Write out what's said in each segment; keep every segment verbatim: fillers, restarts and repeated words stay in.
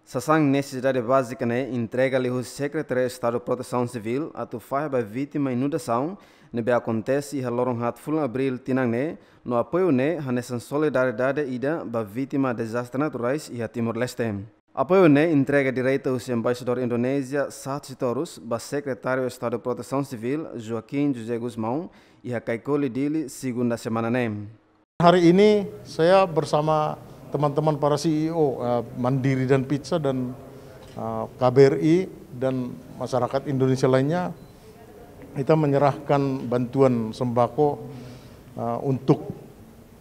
Sasán nesesidade bázika ne'e entrega liu husi Sekretáriu Estadu Protesaun Sivíl atu fahe ba vítima inundasaun ne'ebé akontese iha loron haat fulan Abríl tinan ne'e, no apoiu ne'e hanesan solidariedade ida ba vítima dezastre naturais iha Timor-Leste. Apoiu ne'e entrega direta husi Embaixadór Indonézia Sahat Sitorus ba Sekretáriu Estadu Protesaun Sivíl, Joaquim José Gusmão, iha Caicoli, Dili, segunda semana ne'e. Hari ini saya bersama teman-teman para C E O, eh, Mandiri dan Pizza dan, eh, K B R I dan masyarakat Indonesia lainnya, kita menyerahkan bantuan sembako, eh, untuk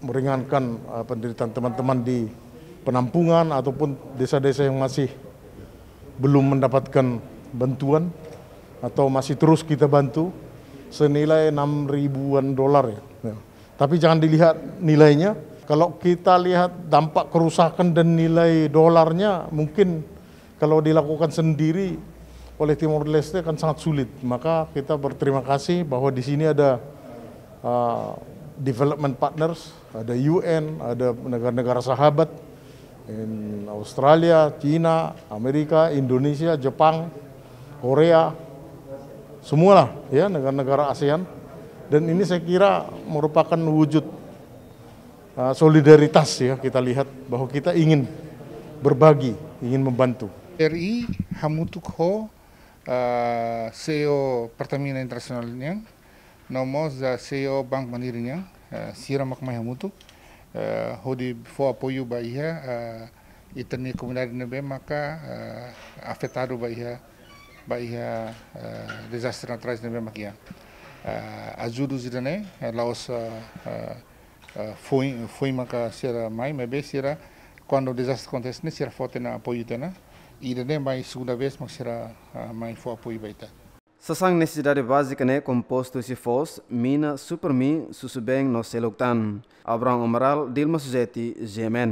meringankan, eh, penderitaan teman-teman di penampungan ataupun desa-desa yang masih belum mendapatkan bantuan atau masih terus kita bantu, senilai enam ribuan dolar, ya. Ya. Tapi jangan dilihat nilainya. Kalau kita lihat dampak kerusakan dan nilai dolarnya, mungkin kalau dilakukan sendiri oleh Timor Leste akan sangat sulit. Maka kita berterima kasih bahwa di sini ada, uh, development partners, ada U N, ada negara-negara sahabat, in Australia, Cina, Amerika, Indonesia, Jepang, Korea, semualah, ya, negara-negara ASEAN. Dan ini saya kira merupakan wujud, uh, solidaritas, ya, kita lihat bahwa kita ingin berbagi, ingin membantu. R I hamutuk ho, uh, C E O Pertamina Internasionál nian, no mós, uh, C E O Bank Mandiri nian, uh, sira mak mai hamutuk, uh, hodi fó apoiu ba iha, uh, ita-nia komunidade ne'ebé maka, uh, afetadu ba iha, ba iha, uh, dezastre naturais ne'ebé mak iha. Uh, ajuda ida-ne'e, uh, la'ós, uh, uh, uh, foin, foin maka sira mai, maibé sira, kuandu dezastre akontese ne'e, sira fó tiha ona apoiu tiha ona. Ida-ne'e mai segunda vez mak sira, uh, mai fó apoiu ba ita. Sasán nesesidade bázika ne'e kompostu husi foos, mina, Supermi, susubeen no seluk tan. Abraham Amaral, Dilma Suzeti, G M N.